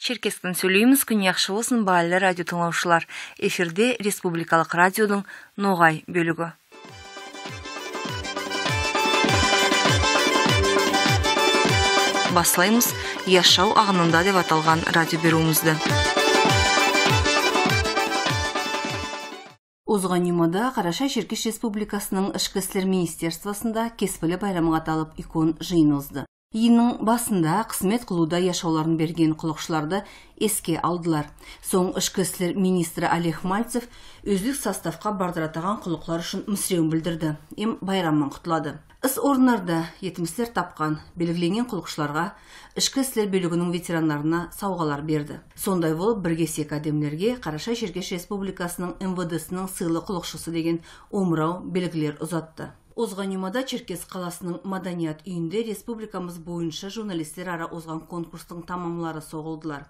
Черкестен сөйлейміз, күн яқшы болсын, баалы радио тыңлаушылар. Эфирде Республикалық радиодың Ноғай бөлігі. Баслаймыз Яшау ағынында деп аталған радио беруімізді. Озған юмада Қараша Черкеш Республикасының Ішкі істер министерствосында кеспілі байрамға аталып икон жиын озды. Иінің басында қызмет қылуда яшауларын берген құлықшыларды еске алдылар. Соң ішкі істер министрі Олег Мальцев өздік составқа бардыратаған құлықлар үшін мүсіреуін білдірді. Байрамын құтылады. Іс орындарда етімістер тапқан белгіленген құлықшыларға ішкі істер бөлігінің ветерандарына сауғалар берді. Сондай болып біргесек әдемлерге Қараша Черкеш Республикасының МВД-сінің сыйлы құлықшысы деген омырау белгілер ұзатты. Озған юмада Черкес қаласының Маданият үйінде республикамыз бойынша журналистер ара озған конкурстың тамамлары соғылдылар.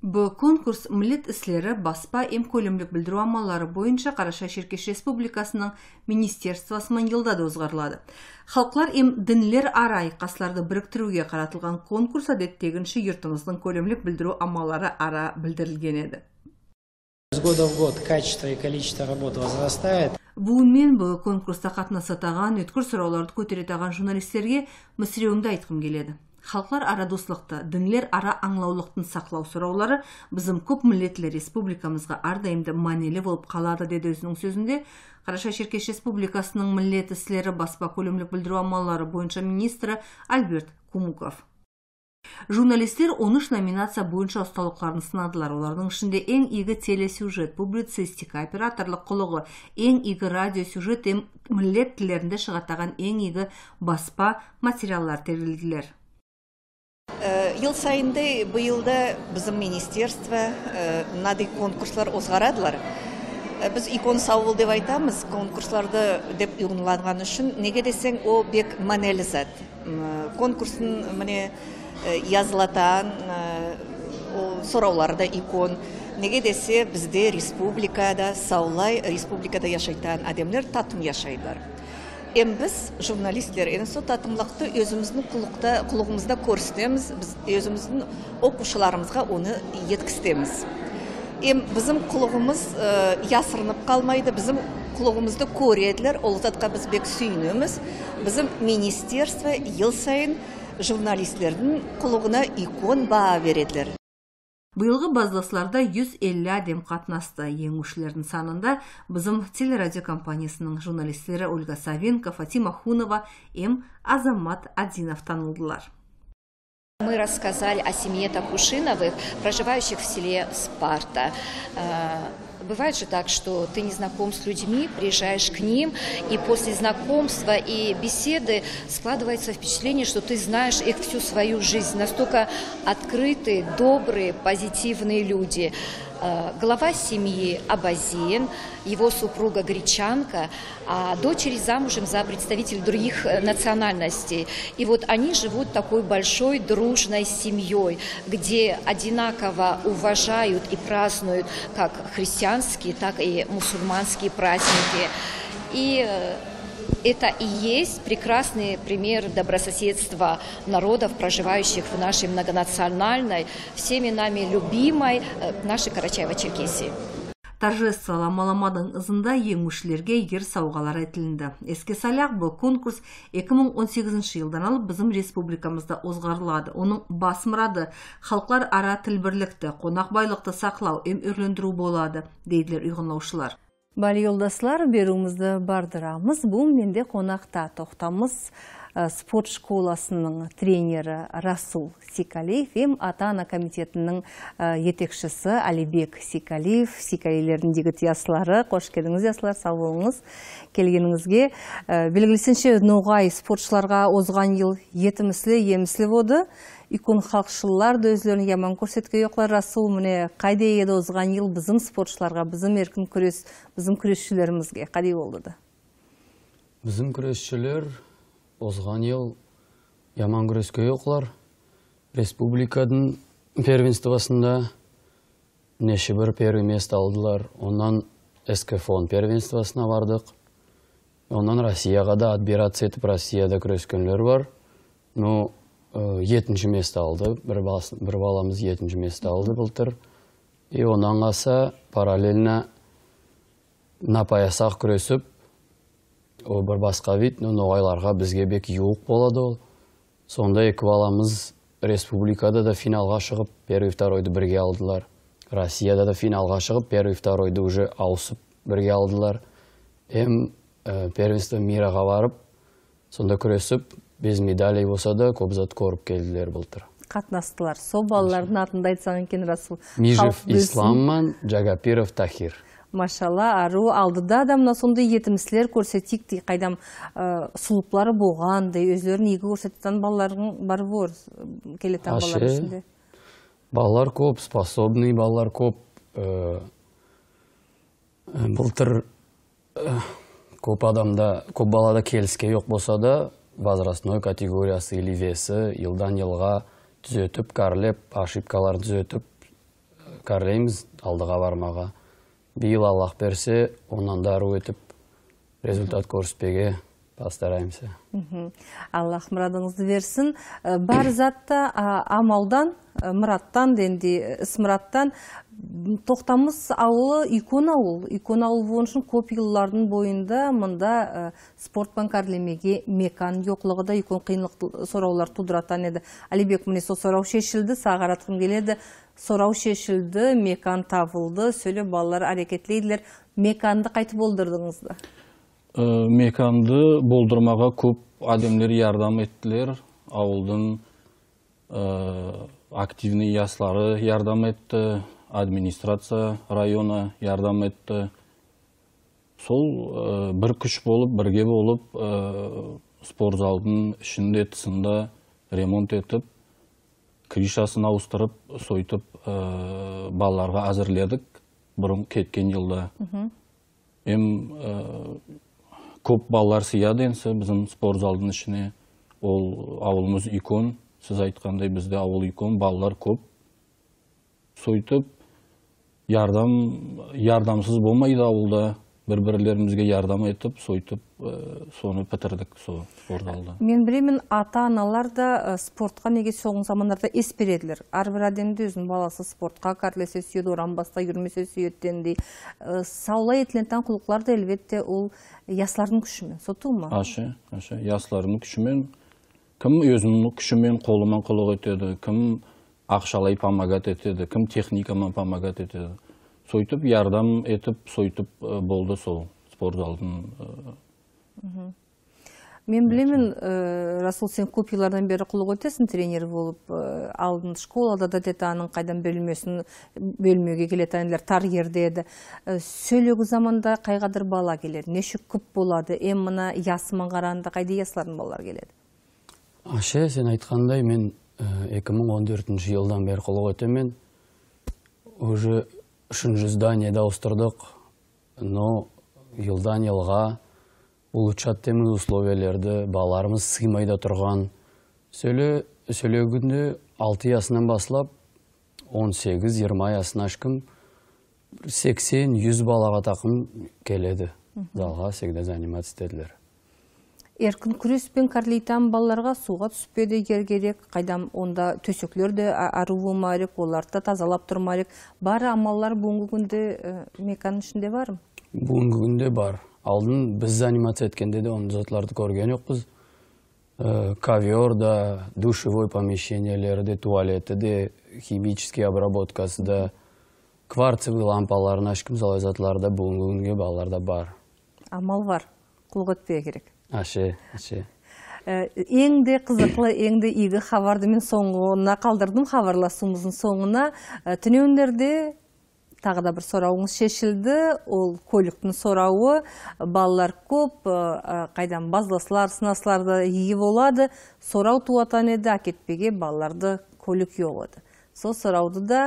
Бұл конкурс милет іслері баспа көлемлік білдіру амалары бойынша Қараша Черкеш Республикасының министерствосымен елдады озғарылады. Халықлар дінлер ара айқасларды біріктіруге қаратылған конкурс әдеттегінші юртымыздың көлемлік білдіру амалары ара білдірілген еді. С года в год качество и количество работ возрастает. Бүгінмен бұл конкурста қатынасатаған, өткір сұрауларды көтеретаған журналистерге мүсіреуімді айтқым келеді. Халықлар ара достылықты, дінлер ара аңлаулықтың сақлау сұраулары біздің көп милетлі республикамызға ардайымды манелі болып қалады деді өзінің сөзінде. Қараша Черкеш Республикасының милет істері баспа көлемлік білдіру амалары бойынша министрі Альберт Кумуков. Журналистер 13 номинация бойынша ұсталықларын сынадылар. Олардың ішінде ең игі телесюжет, публицистика, операторлық құлығы, ең игі радиосюжет, милет тілерінде шығаттаған ең игі баспа материаллар терілділер. Ел сайынды бұйылда біздің министерство мынандай конкурслар озғарадылар. Біз икон сауыл деп айтамыз, конкурсларды деп ұйғынланған үшін, неге десең, о бек манелі зат. Конкурсын міне yazылатан сұрауларда икон. Неге десе бізде республикада, саулай республикада яшайтан адамдар татым яшайдылар. Біз журналистлер сол татымлықты өзіміздің құлығымызда көрсетеміз, біз өзіміздің оқушыларымызға оны еткістеміз. Біздің құлығымыз ясырынып қалмайды, біздің құлығымызды көреділер, ол затқа біз бек сүйінеміз. Біздің министерство ел сайын журналистлердің құлығына икон баға береділер. Бұйылғы базласларда 150 адем қатынасты. Еңушілердің санында біздің телерадио компаниясының журналистері Ольга Савенко, Фатима Хунова, Азамат Адинов танылдылар. Мы рассказали о семье Такушиновых, проживающих в селе Спарта. Бывает же так, что ты не знаком с людьми, приезжаешь к ним, и после знакомства и беседы складывается впечатление, что ты знаешь их всю свою жизнь. Настолько открытые, добрые, позитивные люди. Глава семьи Абазин, его супруга гречанка, а дочери замужем за представителей других национальностей. И вот они живут такой большой дружной семьей, где одинаково уважают и празднуют как христианские, так и мусульманские праздники. И это и есть прекрасный пример добрососедства народов, проживающих в нашей многонациональной, всеми нами любимой нашей Карачаево-Черкесии. Торжестволы маламадың ызында еңушілерге егер сауғалар айтылынды. Еске салақ, бұл конкурс 2018 жылдан алып біздің республикамызда озғарылады. Оның бас мұрады халықлар ара тілбірлікті, қонақ байлықты сақлау, өрлендіру болады, дейділер ұйғынлаушылар. Бәлі елдаслар, беруімізді бардырамыз. Бұл менде қонақта тоқтамыз спорт школасының тренері Расул Сикалиев, ата-ана комитетінің етекшісі Алибек Сикалиев, Сикалилердің дегіт ясылары. Қош келдіңіз, ясылар, сау болыңыз. Келгеніңізге белгілісінше Ноғай спортшыларға озған ел етіміслі, еміслі боды. Икон халықшылар да өзлерін яман көрсетке yoqlar. Расул, міне қайда еді озған ел біздің спортшыларға, біздің еркін күрес, біздің күресшілерімізге қайда болды да? Біздің күресшілер озған ел яман күреске yoqlar. Республикадың первенствосында неше бір первый место алдылар. Ондан СКФОН первенствосына бардық. Ондан Россияға да отбираться етіп Россияда күрескенлер бар. Но 7-ші месті алды. Бір баламыз 7-ші месті алды былтыр. Онан қаса параллельно напаясақ күресіп, бір басқа вид, ноғайларға бізге бек юық болады ол. Сонда екі баламыз республикада да финалға шығып, первый второйды бірге алдылар. Россияда да финалға шығып, первый второйды уже ауысып бірге алдылар. Первенство мираға барып, сонда күресіп, без медалей болса да көп зат көріп келділер былтыр. Қатынастылар. Сол балалардың атында айтсаң екен, Расул. Межев Исламман, Жагапиров Тахир. Машалла, ару алдыда да мына сондай етімсілер көрсетейік дей, қайдам сұлыплары болған дей, өзлерін егі көрсететін балалардың бар бор, келетін балалар ішінде. Балалар көп, способный балалар көп. Былтыр көп адамда, көп балада келіске жоқ болса да, возрастной категориясы или весі елдан елға түзетіп, кәрлеп, ошибкалар түзетіп, кәрлейміз алдыға бармаға. Биыл Аллах берсе, онан дару етіп, результат көрсетпеге постараемся. Аллах мұрадыңызды берсін. Бар затта амалдан, мұраттан, ісмұраттан, тоқтамыз ауылы икон ауыл. Икон ауыл болышын көп еллардың бойында мұнда спортпан кәрлемеге мекан жоқлығы да икон қиынлық сұраулар тудыратан еді. Алибек міне со сұрау шешілді, сағаратқым келеді. Сұрау шешілді, мекан табылды, сөйле балалар әрекетлейділер. Меканды қайтып болдырдыңызды? Меканды болдырмаға көп адамдар ярдам еттілер. Ауылдың активный яслары ярдам етті, администрация района ярдам етті. Сол бір күш болып, бірге болып, спортзалдың ішінде тысында ремонт етіп, кришасын ауыстырып, сойтып балаларға әзірледік бұрын кеткен жылда. Көп балалар сияды енсі біздің спортзалдың ішіне. Ол ауылымыз икон, сіз айтқандай бізде ауыл икон, балалар көп. Сойтып, ярдамсыз болмайды ауылда. Бір-бірлерімізге ярдам етіп, сойтып, соны пітірдік спортзалда. Мен білемін, ата-аналар да спортқа неге соғын замандарда ес береділер. Әрбір адамды өзінің баласы спортқа кәрлесе сүйеді, оран баста жүрмесе сүйеттендей. Саула етілентен құлықлар да әлбетте ол яслардың күшімен, соту ма? Ашы, яслардың күшімен. Кім өзінің күшімен қолымен құлық етеді, кім ақшалай помогат етеді, кім техникамен помогат етеді. Сойтып, ярдам етіп, сойтып болды сол спортзалдың. Мен білемін, Расул, сен көп елардан бері құлық өтесің тренер болып, алдын школада да детаның қайдан бөлмеуге келетінлер тар ерде еді. Сөйлегі заманда қайғадыр бала келер, нешік көп болады, мына ясыман қарағанда қайды яслардың балалар келеді? Ашы, сен айтқандай, мен 2014 жылдан бері құлық өтемен, уже 3-ші зданиеда ауыстырдық, но елдан елға улучшат теміз условиялерді балаларымыз сыймайда тұрған. Сөйлегінде 6 ясынан басылап, 18-20 ясын ашқым, 80-100 балаға тақым келеді. Залға сегде занимация істеділер. Еркін күреспен кәрлейтен балаларға суға түспеді керек, қайдам онда төсеклерді ару болмайық, оларды тазалап тұрмайық. Бар амаллар бүгінгі күнде меканның ішінде бар ма? Бүгінгі күнде бар. Алдын біз анимация еткенде де оны затларды көрген жоқпыз. Ковер да, душевой помещениелері де, туалеті де, химический обработкасы да, кварцевый лампаларын ашқым залай затларда бүгінгі күнге балаларда бар. Амал бар, құлық өтпеу керек. Ашы. Еңді қызықлы, еңді игі хабарды мен соңғына қалдырдым, хабарласуымыздың соңына. Түнеуіндерде тағы да бір сұрауыңыз шешілді, ол көліктің сұрауы, балалар көп, қайдан базласылар, сынасларды егі болады, сұрау туатан еді, әкетпеге балаларды көлік еғады. Сол сұрауды да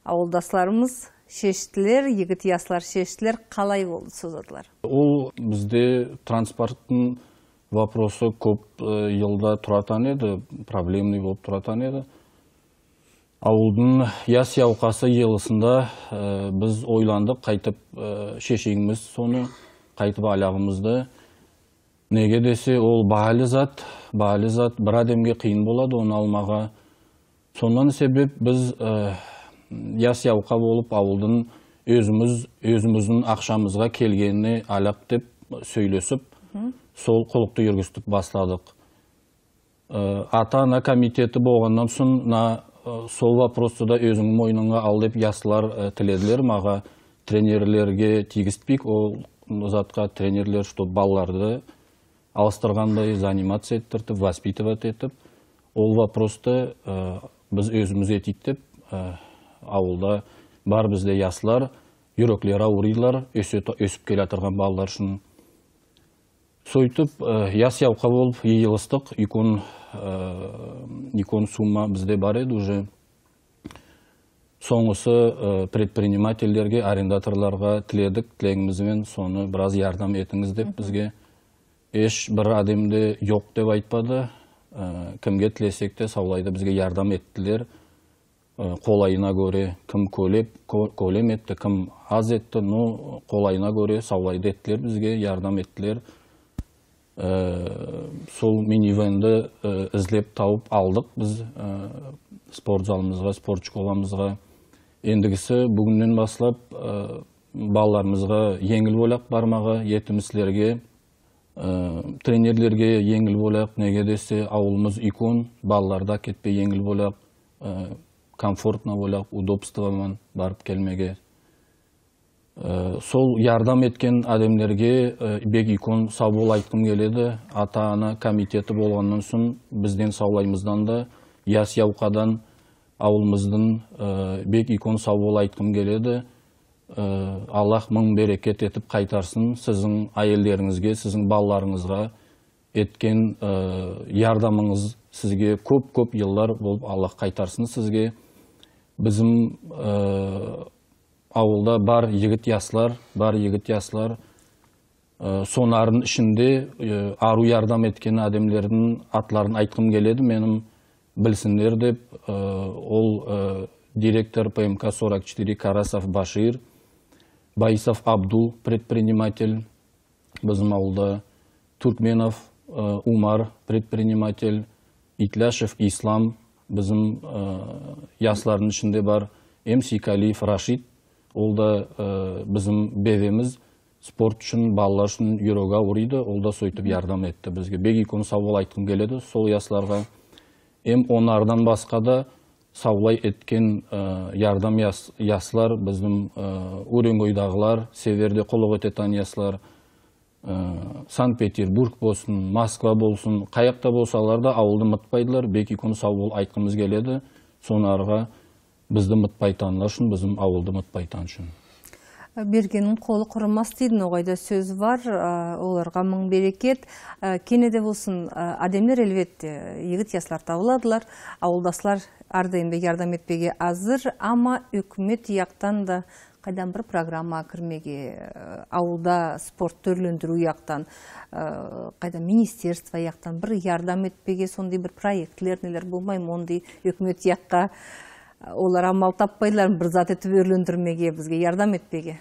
ауылдасларымыз шештілер, егіт яслар шештілер, қалай болды сөзадылар? Ол бізде транспорттың вопросы көп елда тұратан еді, проблемный болып тұратан еді. Ауылдың яс яуқасы елісінде біз ойландық, қайтып шешеңіміз соны, қайтып аяғымызды Неге десе, ол бағалы зат бір адамге қиын болады, оны алмаға. Сондан себеп біз яс-яуқа болып ауылдың өзіміздің ақшамызға келгеніне алап деп сөйлесіп, сол құлықты жүргістіп бастадық. Ата-ана комитеті болғаннан соң, сол вопросты да өзің мойныңа ал деп ясылар тіледілер, маға тренерлерге тигізтпейік, ол затқа тренерлер, что балаларды алыстырғандай занимация еттіртіп, воспитывать етіп, ол вопросты біз өзіміз етейік деп, ауылда бар бізде ясылар, үйреклер ауырыйлар, өсіп келе атырған балалар үшін. Сойтып, яс-яуқа болып ейілістік, икон сумма бізде бар еді уже. Соңысы предпринимательдерге, арендаторларға тіледік, тілегімізбен соны біраз ярдам етіңіз деп бізге. Еш бір адамды жоқ деп айтпады, кімге тілесек те саулайды бізге ярдам еттілер. Қолайына көре, кім көлем етті, кім аз етті, қолайына көре саулайды еттілер бізге, ярдам еттілер. Сол минивенді ізлеп тауып алдық біз спорт залымызға, спорт школамызға. Ендігісі бүгіннен басылап балаларымызға еңіл болақ бармаға, етіміслерге, тренерлерге еңіл болақ, неге десе ауылымыз икон, балаларда кетпей еңіл болақ, комфортна болақ, удобствомен барып келмеге. Сол ярдам еткен адамдерге бек икон сау бол айтқым келеді. Ата-ана комитеті болғаннан соң бізден саулаймыздан да, яс-яуқадан ауылымыздың бек икон сау бол айтқым келеді. Аллах мың берекет етіп қайтарсын сіздің әйелдеріңізге, сіздің балаларыңызға еткен ярдамыңыз сізге көп еллар болып Аллах қайтарсын сізге. Bizim ауылда бар егіт ясылар, сонардың ішінде ару ярдам еткен адамдердің атларын айтқым келеді, менің білсіндер деп. Ол директор ПМК 44 Карасов Башир, Байсов Абдул, предприниматель, bizim ауылда Туркменов Умар, предприниматель, Итляшев Ислам, bizim яслардың ішінде бар, Эмсикалиев Рашид, ол да bizim бевеміз спорт үшін, балалар үшін юроға ұрайды, ол да сойтып ярдам етті бізге. Бек икон саубол айтқым келеді сол ясларға. Онардан басқа да саулай еткен ярдам яслар, біздің Уренгойдағылар, Северде қолық ететен яслар, Санкт-Петербург болсын, Москва болсын, қаяқта болсалар да ауылды мұтпайдылар. Бек икон саубол айтқымыз келеді. Сонарға бізді мұтпайтанлар үшін, біздің ауылды мұтпайтан үшін. Бергенің қолы құрымас дейдің, оғайда сөз бар, оларға мың берекет. Кенеде болсын, адамер әлбетте егіт яслар табыладылар, ауылдаслар ардайында ярдам етпеге азыр, ама үкімет яқтан да қайдан бір программа кірмеге, ауылда спорт төрлендіру яқтан, қайдан министерство яқтан бір ярдам етпеге, сондай бір проектлер нелер болмай, ондай үкімет яққа олар амал таппайлар, бір зат етіп өрлендірмеге, бізге ярдам етпеге.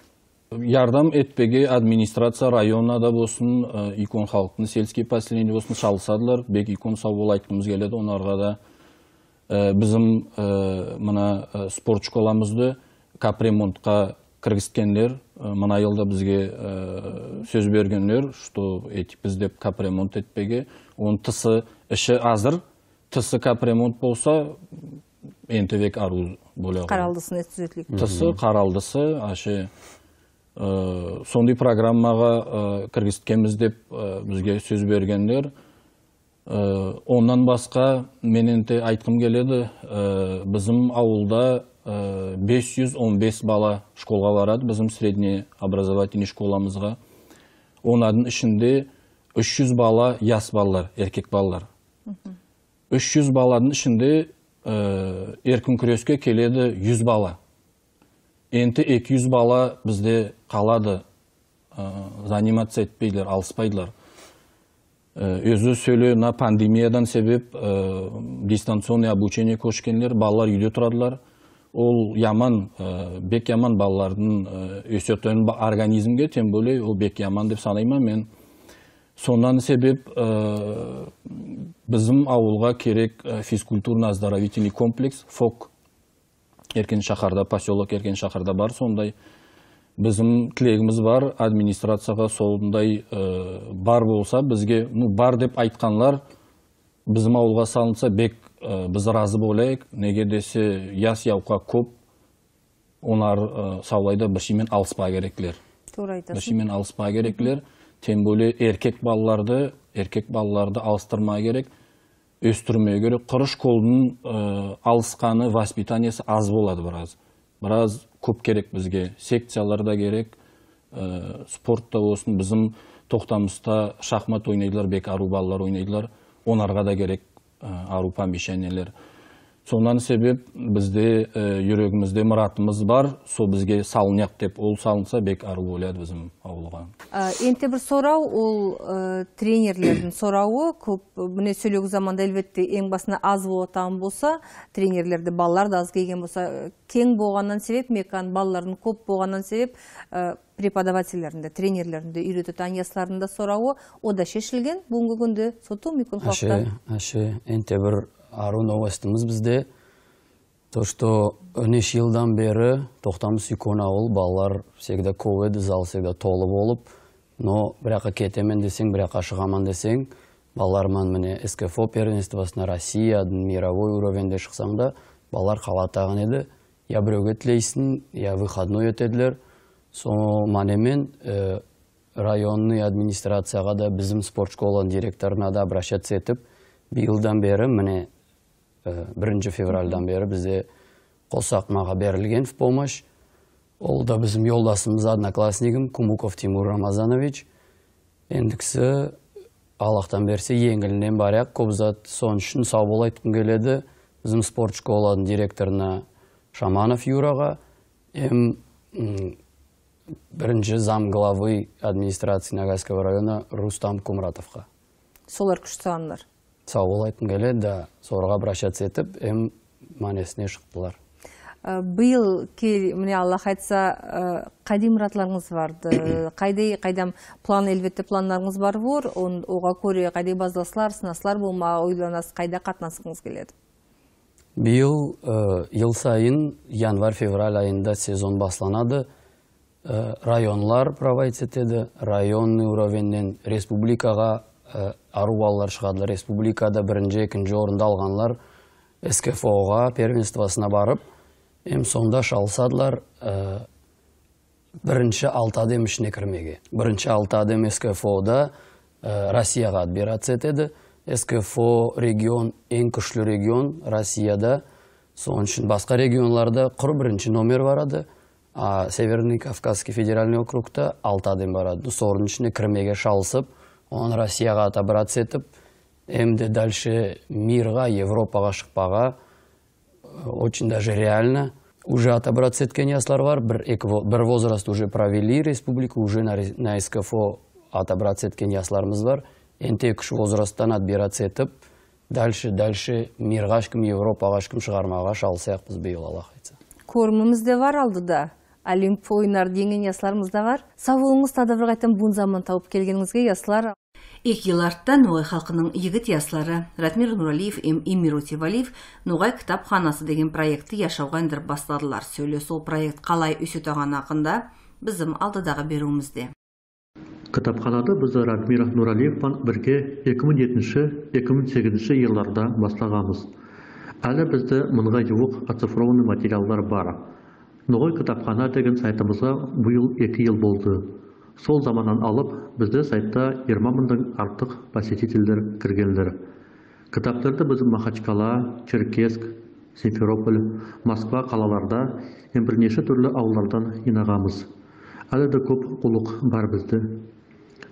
Ярдам етпеге администрация районада болсын, икон халықтың сельский поселение болсын шалысадылар. Бек икон сау бол айтқымыз келеді. Онарға да bizim мына спорт школамызды капремонтқа кіргізкендер, мына елда бізге сөз бергендер, что біз деп капремонт етпеге. Оның тысы іші азыр, тысы капремонт болса, ентевек ару болуға. Қаралдысын түзетілік. Тысы, қаралдысы, ашы сондай программаға кіргізткенбіз деп бізге сөз бергендер. Оннан басқа менен те айтқым келеді, bizim ауылда 515 бала школға барады, bizim средний образовательный школамызға. Онадың ішінде 300 бала яс балалар, еркек балалар. 300 баладың ішінде еркін күреске келеді 100 бала. Енті 200 бала бізде қалады, занимация етпейлер, алыспайдылар. Өзі сөйлі на пандемиядан себеп дистанционный обучение көшкенлер, балалар үйде тұрадылар. Ол яман, бек яман балалардың өсетін организмге, тем более ол бек яман деп санаймын мен. Сондан себеп біздің ауылға керек физкультурно-оздоровительный комплекс ФОК Еркен шақарда, поселок Еркен шақарда бар, сондай. Біздің тілегіміз бар, администрацияға сондай бар болса, бізге бар деп айтқанлар, біздің ауылға салынса, бек біз разы болайық, неге десе яс яуқа көп, онар саулайда біршімен алыспа керектілер. Біршімен алыспа керектілер. Тем более еркек балаларды алыстырма керек, өстірмеу керек. Құрыш қолдың алысқаны, воспитаниясы аз болады біраз. Біраз көп керек бізге. Секцияларда керек, спортта болсын, біздің тоқтамыста шахмат ойнайдылар, бек ару балалар ойнайдылар. Онарға да керек ару помещениелер. Сондан себеп бізде жүрегімізде мұратымыз бар, сол бізге салынyak деп, ол салынса бек ару болады біздің ауылға. Енте бір сорау, ол тренерлердің сорауы, көп бұне сөйлеугі заманда әлбетте ең басына аз болатан болса, тренерлерді балалар да аз келген болса, кең болғаннан себеп, мекан балалардың көп болғаннан себеп, преподавательлерінде, тренерлерінде, үйрететін ясларында сорауы, о да шешілген, бүгінгі күнде соту мүмкін халықта. Енте бір ару новостымыз бізде, то, что 13 жылдан бері тоқтамыз икон ауыл, балалар всегда коведі, зал всегда толы болып, но біраққа кетемен десең, біраққа шығаман десең, балаларман міне СКФО первенствосына Россия, мировой уровенде шықсаң да, балалар қалатаған еді, я біреуге тілейсін, я выходной өтеділер, со манемен районный администрацияға да біздің спорт школаның директорына да обращаться етіп, биылдан бері міне 1 февральдан бері бізде қосақмаға берілген в помощь. Ол да біздің жолдасымыз, одноклассникім Кумуков Тимур Рамазанович. Ендікісі Аллахтан берсе еңгілінен баряқ, көп зат сон үшін сау бол айтқым келеді. Біздің спорт школаның директорына Шаманов Юраға, бірінші зам главы администрации Ногайского района Рустам Кумратовқа. Солар күш сағанлар. Сау бол айтқым келеді, да сорға обращаться етіп, манесіне шықтылар. Биыл міне Аллах айтса, қайдай мұратларыңыз барды? Қайдам план, әлбетте планларыңыз бар бұр, оға көре қайдай базыласылар, сынаслар болма, ойланас, қайда қатынасыңыз келеді? Биыл ел сайын январь-февраль айында сезон басланады. Районлар проводить етеді, районный уровеннен республикаға ару балалар шығадылар. Республикада бірінші, екінші орында алғанлар СКФО-ға первенствосына барып, сонда шалсадылар бірінші 6 адем ішіне кірмеге. Бірінші 6 адем СКФО-да Россияға отбираться етеді. СКФО регион, ең күшлі регион Россияда. Соң үшін басқа регионларда бірінші номер барады, а Северный Кавказский федеральный округта 6 адем барады. Соның ішіне кірмеге шалсып, он Россияға отобраться етіп, әмді дальше мирға, Европаға шықпаға, очень даже реально. Уже отобраться еткен яслар бар, бір возраст уже провели республику, уже на СКФО отобраться еткен ясларымыз бар. Энте күш возрасттан отбираться етіп, дальше мирға шкім, Европаға шкім шығармаға шалсаяқ біз бейіл Аллах айтса. Көріміміз де бар алдыда. Олимп ойынар денген ясларымыз да бар. Сауылыңыз тадавыр қайтын бұн заман тауып келгеніңізге яслар. Екі ел артта Ноғай халқының егіт яслары Ратмир Нуралиев, Эмир Утивалиев Ноғай кітапханасы деген проекті яшауға ендіріп бастадылар. Сөйле сол проект қалай өсетаған ақында біздің алдыдағы беруімізде. Кітапханады бізді Ратмир Нуралиевпен бірге 2007-2008 елларда бастағамыз. Әлі бізді мыңға жуық оцифрованы материалдар бар. Ноғай кітапхана деген сайтымызға бұйыл 2 ел болды. Сол заманнан алып, бізді сайтта 20 мыңдан артық посетителдер кіргендер. Кітаптарды біз Махачкала, Черкесск, Симферополь, Москва қалаларда бірнеше түрлі ауылдардан жинағамыз. Әлі де көп құлық бар бізді.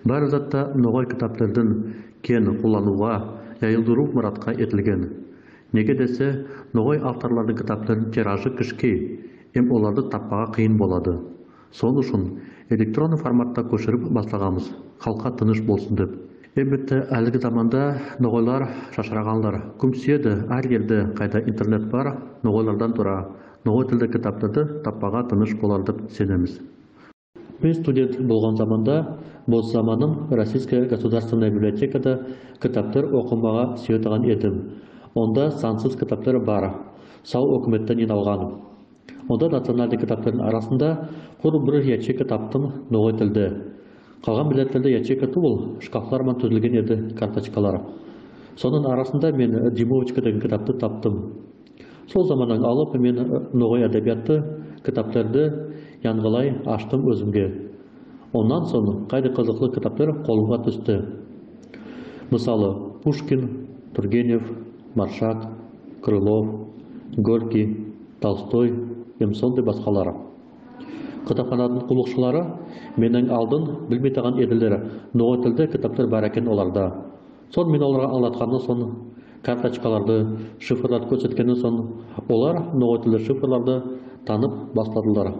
Бар затта Ноғай кітаптардың кен қолануға, жайылдыру мұратқа етілген. Неге десе, Ноғай авторлардың кітаптарын тиражы кішке, оларды таппаға қиын болады. Сол үшін электронды форматта көшіріп бастағамыз, халыққа тыныш болсын деп. Әлбетте әлгі заманда Ноғайлар шашырағанлар көмседі, әр елде қайда интернет бар, Ноғайлардан тұра, Ноғай тілді кітаптарды таппаға тыныш болар деп сенеміз. Мен студент болған заманда, бос заманым Российская государственная библиотекада кітаптар оқымаға сүйетіған едім. Онда сансыз кітаптар бар. Сау өкіметтен алғаным. Онда национальный кітаптардың арасында құр бір ячейка таптым ноғай тілді. Қалған билеттерде ячейка туыл, шкафлармен түзілген еді карточкалар. Соның арасында мен Димовочка деген кітапты таптым. Сол заманнан алып мен ноғай әдебиятты кітаптарды янғылай аштым өзімге. Ондан соң қайда қызықлы кітаптар қолымға түсті. Мысалы, Пушкин, Тургенев, Маршак, Крылов, Горький, Толстой, Емсон деп басқалары. Кітапхананың құлықшылары менің алдын білмейтаған еділері ноғай тілді кітаптар бар екен оларда. Сон мен оларға аңлатқаны соң карточкаларды, шифрларды көрсеткені соң олар ноғай тілді шифрларды танып бастадылар.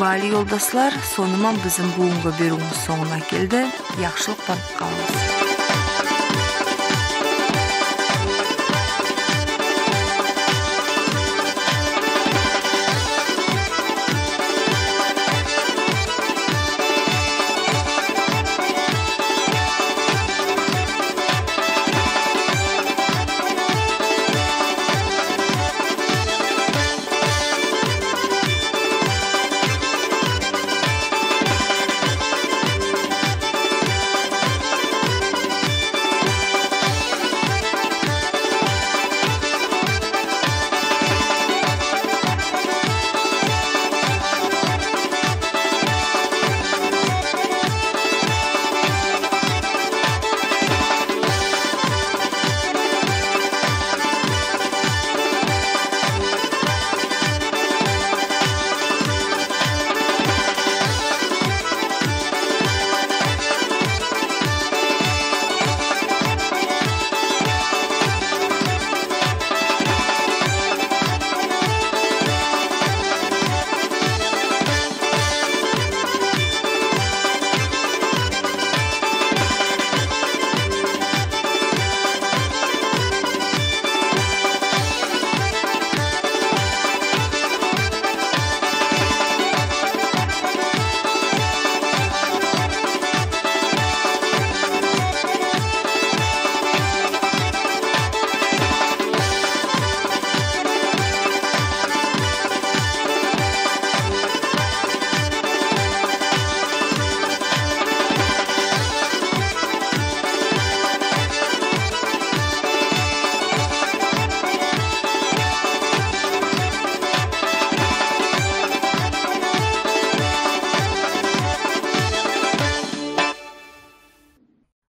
Бали yoldaşlar, соныман біздің бүгінгі беруіміз соңына келді. Яқшылықтан қалыңыз.